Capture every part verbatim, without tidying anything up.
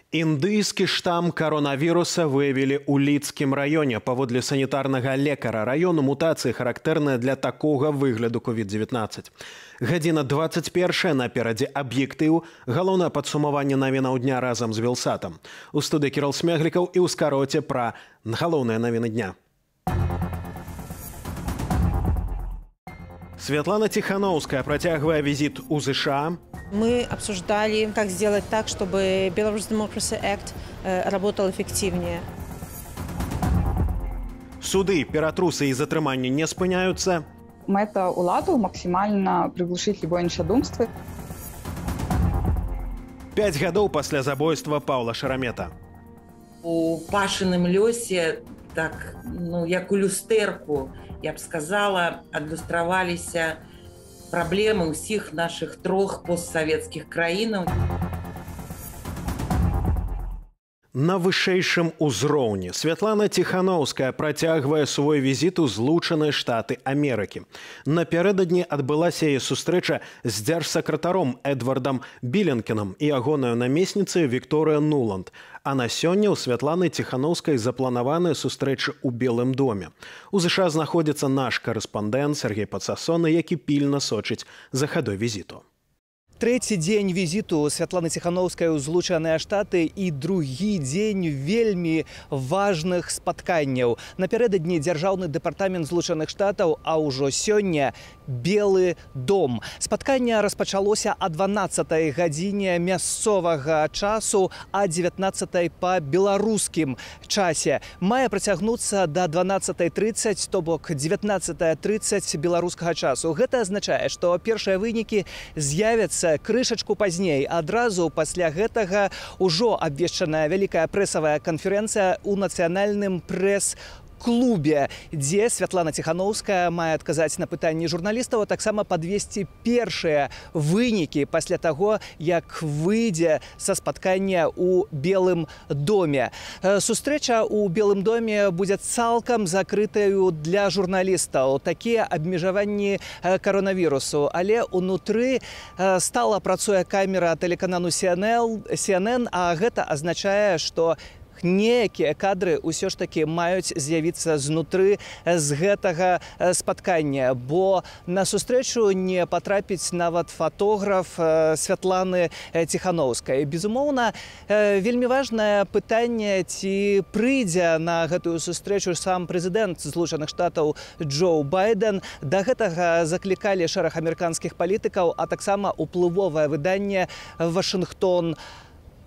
Індыйскі штам коронавіруса выявілі ў Лідскім раёне. Паводле санітарнага лекара раёну мутацыі характэрныя для такога выгляду ковід дзевятнаццаць. Гадзіна двадцать першая наперадзе аб'ектыў. Галоўнае падсумаванне навінаў дня разам з Вілсатам. У студыі Кірыл Смеглікаў і ў скароце пра галоўныя навіны дня. Светлана Тихановская протягивая визит у США. Мы обсуждали, как сделать так, чтобы Belarus Democracy Act работал эффективнее. Суды, ператрусы и затрымання не спыняются. Мэта уладу максимально приглушить любое нечадумство. Пять гадоў пасля забойства Паўла Шарамета. У Пашыным лёсе, так, ну, як у люстэрку, я б сказала, адлюстраваліся праблемы ўсіх наших трох постсавецкіх краінаў. На вышэйшым узроўні Светлана Тихановская працягвае свой візіт у Злучаныя Штаты Амерыкі. Напярэдадні адбылася яе сустрэча з дзяржсакратаром Эдвардам Біленкінам і ягонаю намесніцай Вікторыя Нуланд. А на сёння ў Светланы Тихановскай запланаваныя сустрэчы ў Белым доме. У ЗША знаходзіцца наш карэспандэнт Сергей Пацасоны, які пільна сочыць за хадой візіту. Трэці дзень візіту Святланы Тихановскай у Злучаныя Штаты і другі дзень вельмі важных спатканняў. Напярэдадні дзяржаўны дэпартамент Злучаных Штатаў, а ўжо сёння Белы дом. Спатканне распачалося о дванаццатай гадзіне мясцовага часу, а дзевятнаццатай па беларускім часе. Мае працягнуцца да дванаццатай трыццаць, то бок дзевятнаццатая трыццаць беларускага часу. Гэта азначае, што першыя вынікі з'явяцца крышачку пазней. Адразу пасля гэтага ўжо абвешчаная вялікая прэсавая канферэнцыя ў нацыянальным прэс-клубе, дзе Святлана Тихановская мае адказаць на пытанні журналістаў, а таксама падвесці першыя вынікі пасля таго, як выйдзе са спаткання ў Белым доме. Сустрэча ў Белым доме будзе цалкам закрытаю для журналістаў. Такія абмежаванні коронавірусу. Але ўнутры стала працуе камера тэлеканалу Си Эн Эн, а гэта азначае, што некія кадры ўсё ж такі маюць з'явіцца знутры з гэтага спаткання, бо на сустрэчу не патрапіць нават фотограф Святланы Тихановскай. Безумоўна, вельмі важнае пытанне, ці прыйдзе на гэтую сустрэчу сам прэзідэнт Злучаных Штатаў Джо Байден. Да гэтага заклікалі шэраг амерыканскіх палітыкаў, а таксама уплывовае выданне Вашынгтон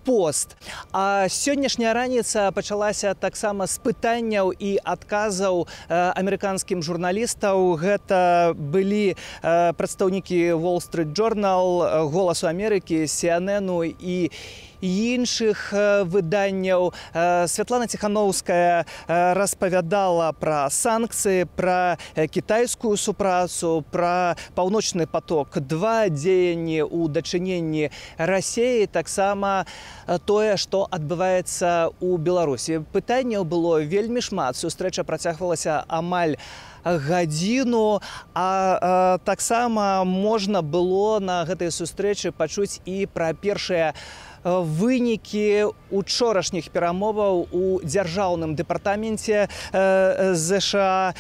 Пост. А сённяшняя раніца пачалася таксама з пытанняў і адказаў амерыканскім журналістаў. Гэта былі прадстаўнікі Wall Street Journal, Голасу Амерыкі, Си Эн Эн і іншых выданняў. Святлана Тихановская распавядала пра санкцыі, пра кітайскую супрацу, пра паўночны поток два, дзеянні ў дачыненні Расіі, таксама тое, што адбываецца ў Беларусі. Пытанняў было вельмі шмат. Сустрэча працягвалася амаль гадзіну, а, а таксама можна было на гэтай сустрэчы пачуць і пра першыя вынікі учорашніх перамоваў у дзяржаўным дэпартаменце ЗША,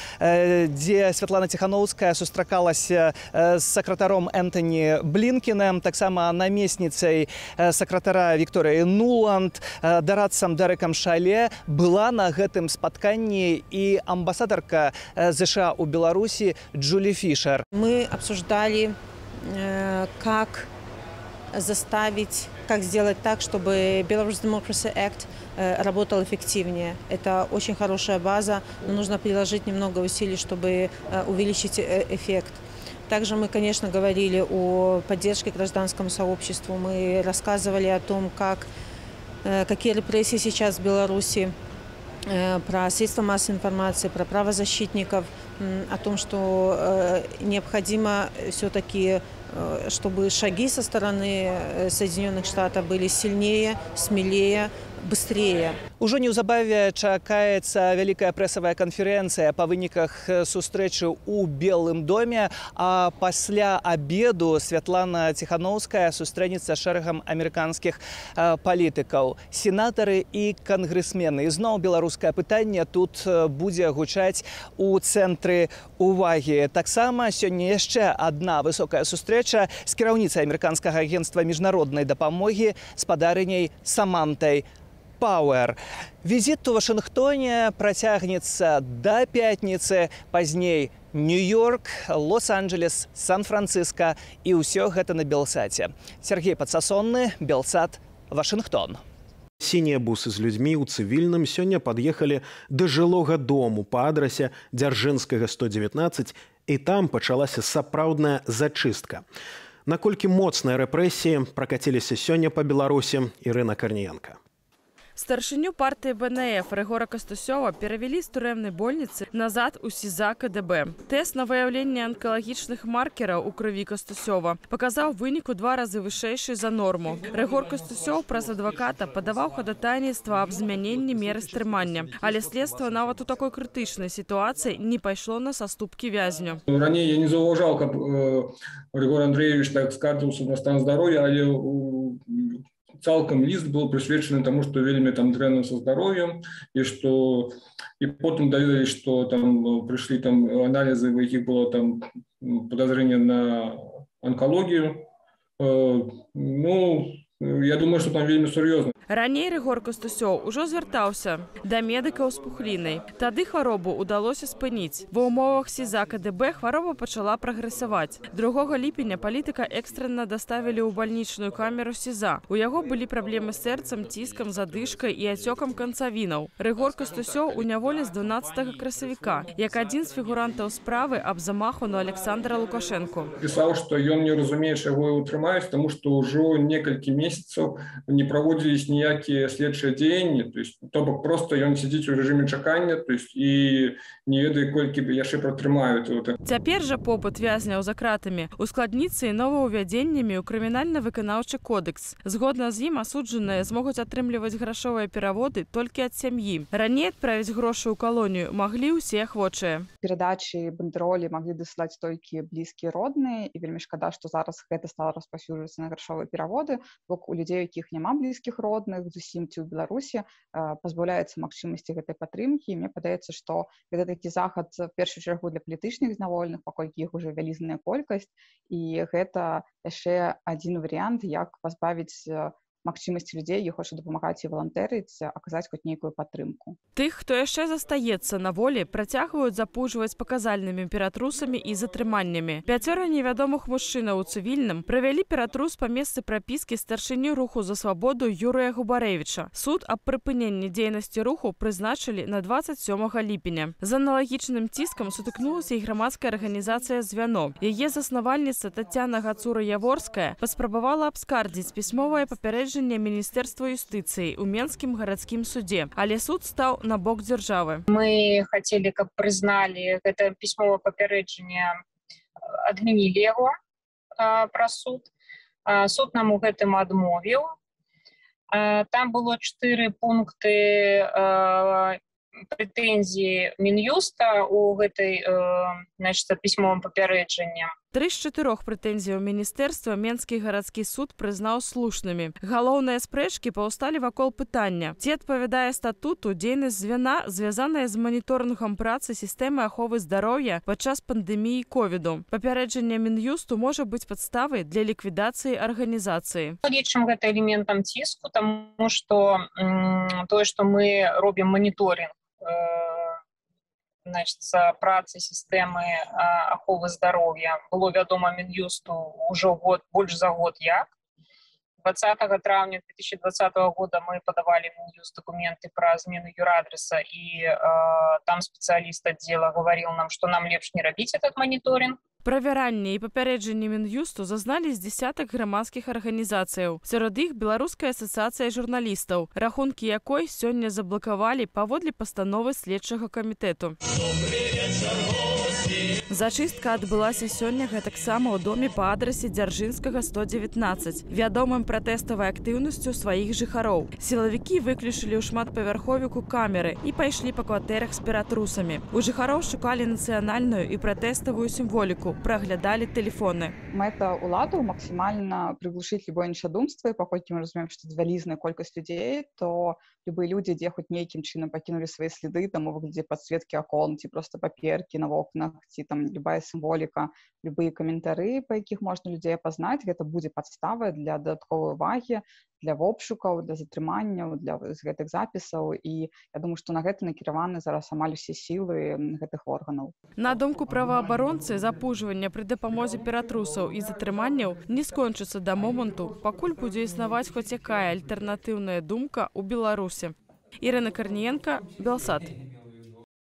дзе Святлана Тихановская сустракалася з сакратаром Энтоні Блінкінам, таксама намесніцай сакратара Вікторыі Нуланд, дарадцам Дэрекам Шале. Была на гэтым спатканні і амбасадарка ЗША у Беларусі Джулі Фішер. Мы обсуждали, как заставить, как сделать так, чтобы Belarus Democracy Act работал эффективнее. Это очень хорошая база, но нужно приложить немного усилий, чтобы увеличить эффект. Также мы, конечно, говорили о поддержке гражданскому сообществу. Мы рассказывали о том, как, какие репрессии сейчас в Беларуси, про средства массовой информации, про правозащитников, о том, что необходимо все-таки, чтобы шаги со стороны Соединенных Штатов были сильнее, смелее, быстрее. Ужо неўзабаве чакаецца вялікая прэсавая канферэнцыя па выніках сустрэчы ў Белым доме, а пасля абеду Святлана Ціханаўская сустрэнецца з шэрагам амерыканскіх палітыкаў, сенатары і кангрэсмены. І зноў беларускае пытанне тут будзе гучаць у цэнтры увагі. Таксама сёння яшчэ адна высокая сустрэча з кіраўніцай амерыканскага агенцтва міжнароднай дапамогі спадарыняй Самантай Пауэр. Візіт у Вашынгтоне працягнецца да пятніцы, пазней Нью-Йорк, Лос-Анджелес, Сан-Францыска і ўсё гэта на Белсаце. Сергей Падсасонны, Белсат, Вашынгтон. Сінія бусы з людзьмі ў цывільным сёння пад'ехалі да жылога дому па адрасе Дзяржынскага сто дзевятнаццаць, і там пачалася сапраўдная зачыстка. Наколькі моцныя рэпрэсіі пракаціліся сёння па Беларусі, Ірына Карніенка. Старшыню партыі Бэ Эн Эф Рыгора Кастусёва перавялі з турэмнай больніцы назад у СІЗА Ка Дэ Бэ. Тэст на выяўленне анкалагічных маркераў у крыві Кастусёва паказаў вынік у два разы вышэйшы за норму. Рыгор Кастусёў праз адваката падаваў хадатайніцтва аб змяненні меры стрымання. Але следства нават у такой крытычнай сітуацыі не пайшло на саступкі вязню. Раней я не заўважаў, каб Григорий Андреевич так скардзіўся на стан здароўя, але цалкам ліст был прысвечаны тому, что вельмі там дрэнна со здароўем, і что і потым даведались, что там прыйшлі там анализы, у якіх было там подозрение на онкологию. Ну, я думаю, что там вельмі сур'ёзна. Раней Рыгор Кастусёў ужо звяртаўся да медыкаў з пухлінай. Тады хваробу ўдалося спыніць. Ва ўмовах СІЗА Ка Дэ Бэ хвароба пачала прагрэсаваць. другога ліпеня палітыка экстрэнна даставілі ў бальнічную камеру СІЗА. У яго былі праблемы з сэрцам, ціскам, задышкай і ацёкам канцавінаў. Рыгор Кастусёў у няволі з дванаццатага красавіка, як адзін з фігурантаў справы аб замаху на Александра Лукашэнку. Пісаў, што ён не разумее, чаго яго трымаюць, таму што ўжо некалькі месяцаў не праводзілись ні ніякія следчыя дзеянні, то есть то бок просто ён сядзіць у рэжыме чакання, то есть і не ведае, колькі яшчэ пратрымаюць. Цяпер жа побыт вязняў за кратамі ускладніцца і новаўвядзеннямі ў крымінальна-выканаўчы кодэкс. Згодна з ім асуджаныя змогуць атрымліваць грашовыя пераводы толькі ад сям'і. Раней адправіць грошы ў калонію маглі ўсе ахвочыя. Перадачы бандэролі маглі дасылаць толькі блізкія родныя, і вельмі шкада, што зараз гэта стала распаўсюджвацца на грашовыя пераводы, бок у людзей, у якіх няма блізкіх родных, зусім ці ў Беларусі пазбаўляецца магчымасці гэтай падтрымкі. Мне падаецца, што гэта такі захад в першую чаргу для палітычных зняволеных, паколькі іх уже вялізная колькасць, і гэта яшчэ адзін варыянт, як пазбавіць магчымасці людзей, які хочуць дапамагаць і валантэрыць, аказаць хоць нейкую падтрымку. Тых, хто яшчэ застаецца на волі, працягваюць запужваць паказальнымі ператрусамі і затрыманнямі. Пяцёра невядомых мужчынаў у цывільным правялі ператрус па месцы прапіскі старшыню руху за свабоду Юрыя Губарэвіча. Суд аб прыпыненні дзейнасці руху прызначылі на дваццаць сёмага ліпеня. З аналагічным ціскам сутыкнулася і грамадская арганізацыя «Звяно». Яе заснавальніца Тацяна Гацура-Яворская паспрабавала абскардзіць пісьмовае папярэджанне Міністэрства юстыцыі ў Менскім гарадскім судзе, але суд стаў на бок дзяржавы. Мы хацелі, каб прызналі гэта пісьмовае папярэджанне, адмянілі яго праз суд. Суд нам у гэтым адмовіў. Там было чатыры пункты прэтэнзіі Мін'юста у гэтай пісьмовым папярэджанні. Тры з чатырох прэтэнзіяў міністэрства Менскі гарадскі суд прызнаў слушнымі. Галоўныя спрэчкі паўсталі вакол пытання, ці адпавядае статуту дзейнасць звяна, звязаная з маніторынгам працы сістэмы аховы здароўя падчас пандэміі ковіду. Папярэджанне Мін'юсту можа быць падставай для ліквідацыі арганізацыі. Лічым гэта элементам ціску, таму што тое, што мы робім маніторинг значит, працы сістэмы аховы здароўя было вядома Мін'юсту ўжо год, больш за год як. двадцатага траўня две тысячи двадцатого года мы падавалі в Мін'юст документы пра змену юрадрэса, і э, там спецыяліст аддзела гаварыў нам, што нам лепш не рабіць этот маніторинг. Правяранне і папярэджанне Мін'юсту зазналі з дзясятак грамадскіх арганізацыяў. Сярод іх Беларуская асацыяцыя журналістаў, рахункі якой сёння заблакавалі паводле пастановы следчага камітэту. Зачыстка адбылася сёння гэтаксама ў доме па адрасе Дзяржынскага сто дзевятнаццаць, вядомым пратэставай актыўнасцю сваіх жыхароў. Сілавікі выключылі ў шматпавярховіку камеры і пайшлі па кватэрах з ператрусамі. У жыхароў шукалі нацыянальную і пратэставую сімволіку, праглядалі тэлефоны. Мэта ўладаў максімальна прыглушыць любое іншадумства, і паколькі мы разумеем, што вялізная колькасць людзей, то любыя людзі, дзе хоць нейкім чынам пакінулі свае сліды, там у выглядзе падсветкі акон, ці проста паперкі на вокнах, ці там любая сімволіка, любыя каментары, па якіх можна людзей апазнаць, гэта будзе падставай для дадатковай увагі, для обшукаў, для затрыманняў, для гэтых запісаў. І я думаю, што на гэта накіраваны зараз амаль усе сілы гэтых органаў. На думку праваабаронцы, запужванне пры дапамозе ператрусаў і затрыманняў не скончыцца да моманту, пакуль будзе існаваць хоць якая альтэрнатыўная думка ў Беларусі. Ірына Карніенка, Белсат.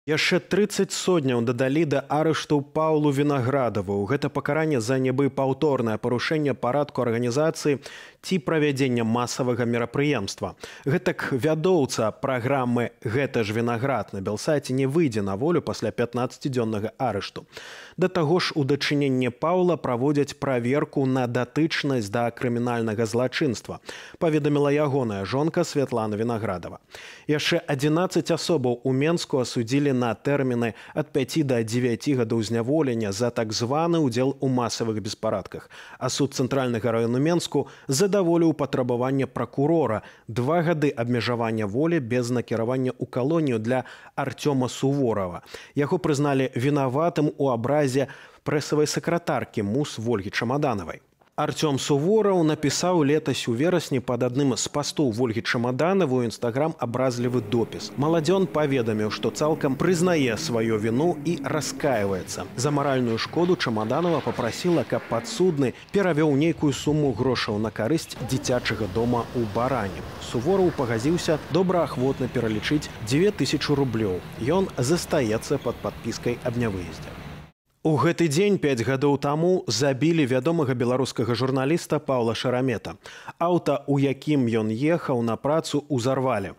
Яшчэ трыццаць сотняў дадалі да арышту Паўлу Вінаградаву. Гэта пакаранне за нібы паўторнае парушэнне парадку арганізацыі ці правядзення масавага мерапрыемства. Гэтак вядоўца праграмы «Гэта ж Вінаград» на Белсаце не выйдзе на волю пасля пятнаццацідзённага арышту. Да таго ж у дачыненні Паўла праводзяць праверку на датычнасць да крымінальнага злачынства, паведаміла ягоная жонка Святлана Вінаградава. Яшчэ адзінаццаць асобаў у Менску асудзілі на тэрміны ад пяці да дзевяці гадоў зняволення за так званы ўдзел у масавых беспарадках. А суд цэнтральнага раёну Менску задаволіў патрабаванне пракурора два гады абмежавання волі без накіравання ў калонію для Артёма Суворава. Яго прызналі вінаватым у абразе прэсавай сакратаркі МУС Вольгі Чамаданавай. Артём Сувораў напісаў летась у верасні пад адным з пастоў Вольгі Чамаданаву ў інстаграм абразлівы допіс. Маладзён паведаміў, што цалкам прызнае сваю віну і раскаиваецца. За маральную шкоду Чамаданава папрасіла, каб падсудны перавёў нейкую суму грошаў на карысць дзіцячага дома ў Баране. Сувораў пагадзіўся добраахвотна пералічыць дзве тысячы рублёў. Ён застаецца пад падпіскай аб нявыездзе. У гэты дзень пяць гадоў таму забілі вядомага беларускага журналіста Паўла Шарамета. Аўта, у якім ён ехаў на працу, узарвалі.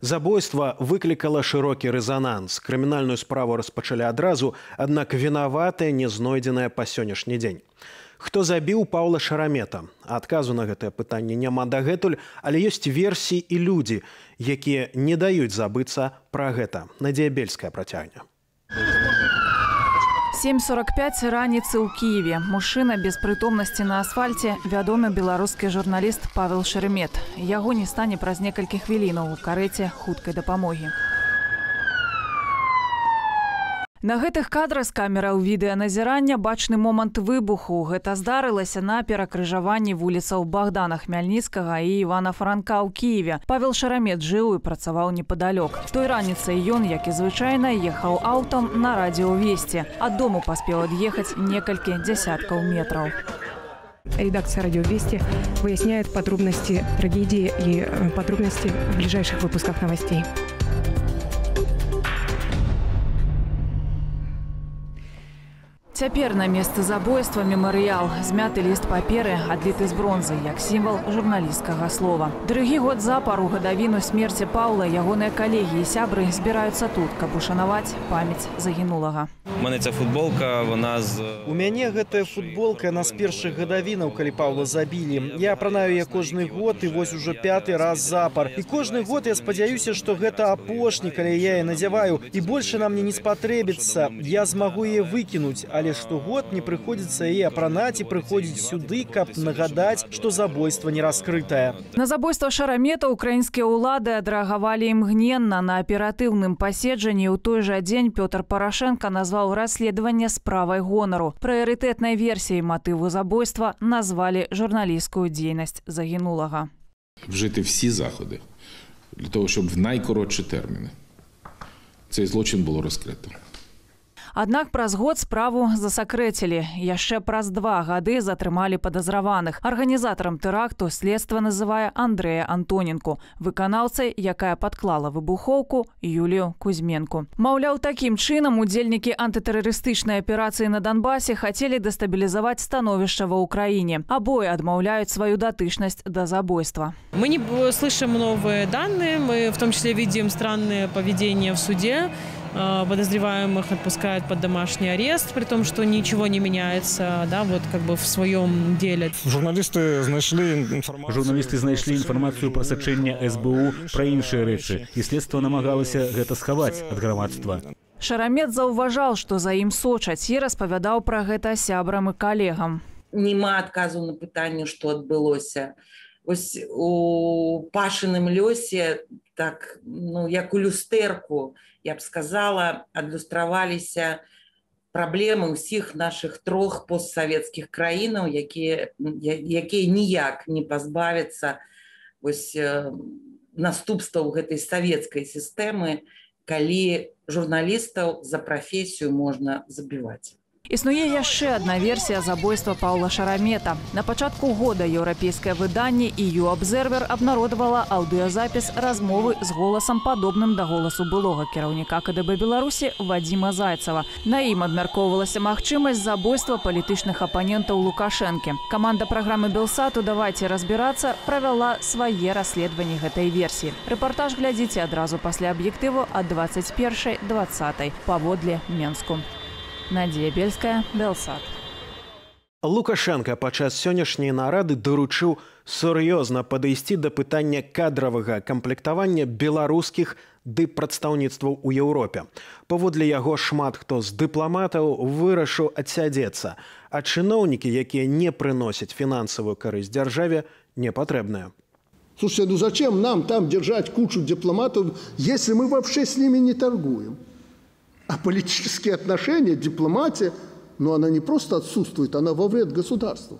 Забойства выклікала шырокі рэзананс. Крымінальную справу распачалі адразу, аднак вінаватыя не знойдзеныя па сённяшні дзень. Хто забіў Паўла Шарамета? Адказу на гэтае пытанне няма дагэтуль, але ёсць версіі і людзі, якія не даюць забыцца пра гэта. Надзея Бельская працягне. сем сорок пять раніцы ў Киеве. Мужчына без прытомнасці на асфальце, вядомы беларускі журналіст Павел Шеремет. Яго не стане праз некалькі хвілінаў у карэце хуткай дапамогі. На гэтых кадрах з камераў відэаназірання бачны момант выбуху. Гэта здарылася на перакрыжаванні вуліцаў Богдана Хмяльніцкага і Івана Франка ў Киеве. Павел Шарамет жыў і працаваў непадалёк. Той раніцай ён, як і звычайна, ехаў аўтам на радиовесте. Ад дому паспеў ад'ехаць некалькі дзясяткаў метраў. Редакция «Радио Вести» выясняет подробности трагедии и подробности в ближайших выпусках новостей. Цяпер на месцы забойства мемарыял. Змяты ліст паперы, адліты з бронзы, як сімвал журналісцкага слова. Другі год запар у гадавіну смерці Паўла ягоныя калегі і сябры збіраюцца тут, каб ушанаваць памяць загінулага. У мене ця футболка, вона з... У мяне гэтая футболка на з першых гадавінаў, калі Паўла забілі. Я апранаю я кожны год і вось ужо пяты раз запар. І кожны год я спадзяюся, што гэта апошні, калі я яе надзяваю. І больше нам мне не спатрэбіцца. Я змагу яе выкінуць, але штогод не прыходзіцца яе апранаць і прыходзіць сюды, каб нагадаць, што забойства не раскрытае. На забойства Шарамета украінскія ўлады адрэагавалі імгненна. На аператыўным паседжанні ў той жа дзень Пётр Парашенко назваў расследаванне справай гонару. Прыярытэтнай версіяй матыву забойства назвалі журналістскую дзейнасць загінулага. Вжити всі заходи для того, щоб в найкоротші терміни цей злочин було розкрито. Аднак праз год справу засакрэцілі. Яшчэ праз два гады затрымалі падазраваных. Арганізатарам тэракту следства называе Андрэя Антоненку, выканаўцай, якая падклала выбухоўку, Юлію Кузьменку. Маўляў, такім чынам удзельнікі антытэрарыстычнай аперацыі на Донбасе хацелі дэстабілізаваць становішча ва ўкраіне. Абое адмаўляюць сваю датычнасць да забойства. Мы не слышим новые данные, мы в том числе видим странное поведение в суде. подозреваемых отпускают под домашний арест, при том, что ничего не меняется, да, вот как бы в своем деле. Журналисты знайшли информацию. Журналисты знайшли информацию про сачэнне эс бэ у, про іншыя рэчы, і следства намагалася гэта схаваць ад грамадства. Шарамет заўважаў, што за ім сочаць, і распавядаў пра гэта сябрам і калегам. Нема адказу на пытанне, што адбылося. Ось у Пашыным лёсе, так, ну, як у люстэрку, я б сказала, адлюстраваліся праблемы ўсіх нашых трох постсавецкіх краінаў, якія, якія ніяк не пазбавяцца ось, наступстваў гэтай савецкай сістэмы, калі журналістаў за прафесію можна забіваць. Існуе яшчэ адна версія забойства Паўла Шарамета. На пачатку года еўрапейскае выданне і ю Абзервер абнародавала аўдыёзапіс размовы з голасам падобным да голасу былога кіраўніка ка дэ бэ Беларусі Вадзіма Зайцева. На ім абмяркоўвалася магчымасць забойства палітычных апанентаў Лукашэнкі. Каманда праграмы Белсату «Давайце разбірацца» правяла свае расследаванні гэтай версіі. Рэпартаж глядзіце адразу пасля аб'ектыву ад дваццаць першай дваццатай паводле Менску. Надія Бельская, Белсат. Лукашенко падчас сённяшняй нарады даручыў сур'ёзна падысці да пытання кадравага камплектавання беларускіх дыппрадстаўніцтваў у Еўропе. Паводле яго шмат хто з дыпламатаў вырашыў адсядзецца, а чыноўнікі, якія не прыносяць фінансавую карысць дзяржаве, не патрэбныя. Слушайте, ну зачем нам там держать кучу дипломатов, если мы вообще с ними не торгуем? А политические отношения, дипломатия, ну она не просто отсутствует, она во вред государству.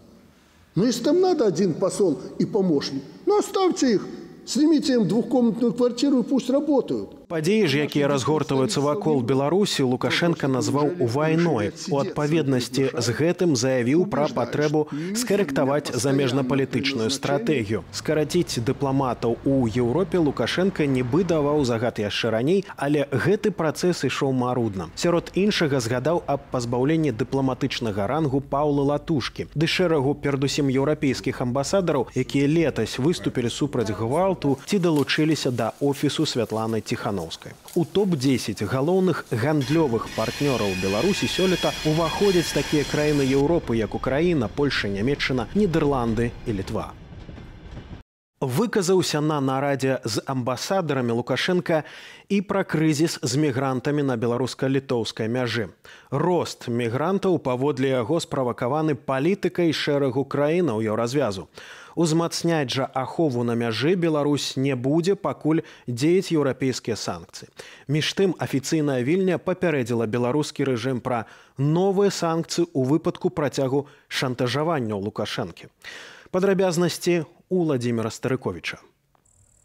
Но если там надо один посол и помощник, ну оставьте их, снимите им двухкомнатную квартиру и пусть работают. Падзеі ж, якія разгортваюцца вакол Беларусі, Лукашенко назваў вайной. У адпаведнасці з гэтым заявіў пра патрэбу скарэктаваць замежнапалітычную стратэгію. Скараціць дыпламатаў у Еўропе Лукашенко нібы даваў загад яшчэ раней, але гэты працэс ішоў марудна. Сярод іншага згадаў аб пазбаўленні дыпламатычнага рангу Паўла Латушкі, ды шэрагу перадусім еўрапейскіх амбасадараў, якія летась выступілі супраць гвалту ці далучыліся да офісу Святланы Тихановскай. У топ дзесяць галоўных гандлёвых партнёраў Беларусі сёлета уваходзяць такія краіны Еўропы, як Украіна, Польша, Нямецчына, Нідерланды і Літва. Выказаўся на нарадзе з амбасадарамі Лукашенко і пра крызіс з мігрантамі на беларуска-літоўскай мяжы. Рост мігрантаў паводле яго справакаваны палітыкай шэрагу краінаў еўразвязу. Узмацняць жа ахову на мяжы Беларусь не будзе, пакуль дзеяць еўрапейскія санкцыі. Між тым, афіцыйная Вільня папярэдзіла беларускі рэжым пра новыя санкцыі ў выпадку працягу шантажавання Лукашэнкі. Падрабязнасці у Владзіміра Старыковіча.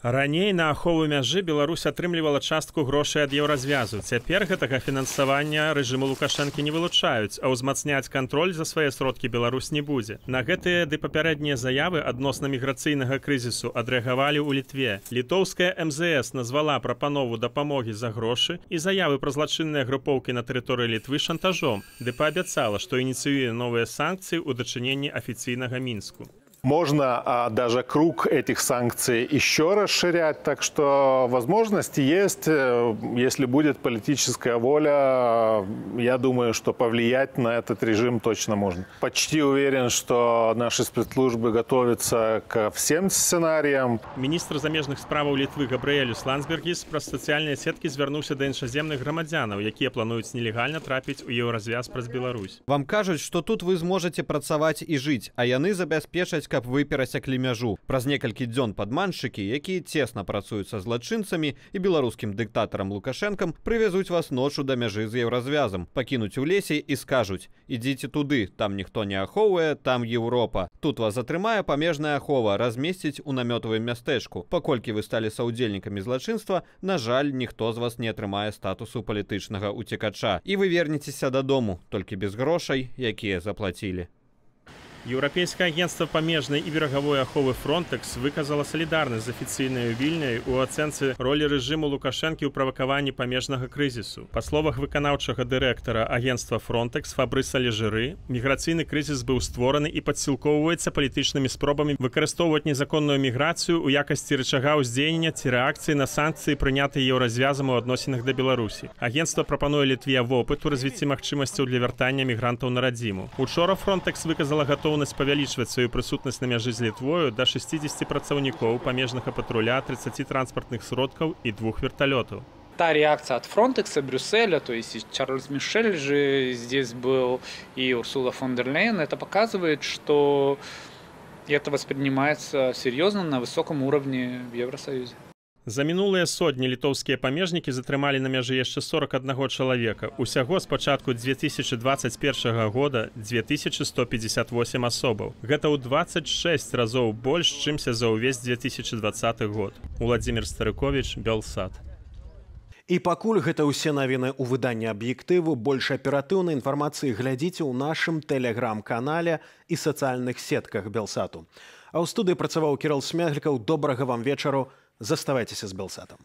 Раней на ахову мяжы Беларусь атрымлівала частку грошай ад еўразвязу. Цяпер гэтага фінансавання рэжыму Лукашэнкі не вылучаюць, а ўзмацняць кантроль за свае сродкі Беларусь не будзе. На гэтыя ды папярэднія заявы адносна міграцыйнага крызісу адрэагавалі ў Літве. Літоўская эм зэ эс назвала прапанову дапамогі за грошы і заявы пра злачынныя групоўкі на тэрыторыі Літвы шантажом, ды паабяцала, што ініцыюе новыя санкцыі ў дачыненні афіцыйнага Мінску. Можно а, даже круг этих санкций еще расширять, так что возможности есть. Если будет политическая воля, я думаю, что повлиять на этот режим точно можно. Почти уверен, что наши спецслужбы готовятся ко всем сценариям. Министр замежных справаў Літвы Габрыэлюс Ландсбергіс праз сацыяльныя сеткі звярнуўся да іншаземных грамадзянаў, якія плануюць нелегальна трапіць у еўразвяз праз Беларусь. Вам кажуць, што тут вы зможаце працаваць і жыць, а яны забяспечаць, каб вы перасяклі мяжу. Праз некалькі дзён падманшчыкі, якія цесна працуюць са злачынцамі і беларускім дыктатарам Лукашэнкам, прывязуць вас ночу да мяжы з еўразвязам, пакінуць у лесе і скажуць: ідзіце туды, там ніхто не ахоўвае, там Еўропа. Тут вас атрымае памежная ахова, размесціць у намётавым мястэчку. Паколькі вы сталі саўдзельнікамі злачынства, на жаль, ніхто з вас не атрымае статусу палітычнага уцекача. І вы вернецеся дадому, толькі без грошай, якія заплацілі. Еўрапейскае агентства памежнай і берагавой аховы Frontex выказала салідарнасць з афіцыйнай Вільняй у ацэнцы ролі рэжыму Лукашэнкі ў правакаванні памежнага крызісу. Па словах выканаўчага дырэктара агентства Frontex Фабрыса Лежыры, міграцыйны крызіс быў створаны і падсілкоўваецца палітычнымі спробамі выкарыстоўваць незаконную міграцыю ў якасці рычага ўздзеяння ці рэакцыі на санкцыі, прынятыя еўразвязам у адносінах да Беларусі. Агентства прапануе Літве вопыт у развіцці магчымасцяў для вяртання мігрантаў на радзіму. Учора Frontex выказала гатоўнасць павялічваць сваю прысутнасць на мяжы з Літвою да шестидесяти працаўнікоў памежнага патруля, тридцати транспартных сродкаў и двух вертолетов. Та реакция от Фронтекса, Брюсселя, то есть и Чарльз Мишель же здесь был, и Урсула фон дер Лейн, это показывает, что это воспринимается серьезно на высоком уровне в Евросоюзе. За мінулыя сотні літоўскія памежнікі затрымалі на мяжы яшчэ сорок аднаго чалавека. Усяго з пачатку две тысячи двадцать первого года две тысячи сто пятьдесят восемь асобаў. Гэта ў двадцать шесть разоў больш, чымся за ўвесь две тысячи двадцаты год. Уладзімир Старыковіч, Белсат. І пакуль гэта ўсе навіны ў выданні аб'ектыву, больш аператыўнай інфармацыі глядзіце ў нашым тэлеграм-канале і сацыяльных сетках Белсату. А ў студыі працаваў Кірыл Смяглікаў. Добрага вам вечару. Заставайтеся з Белсатом.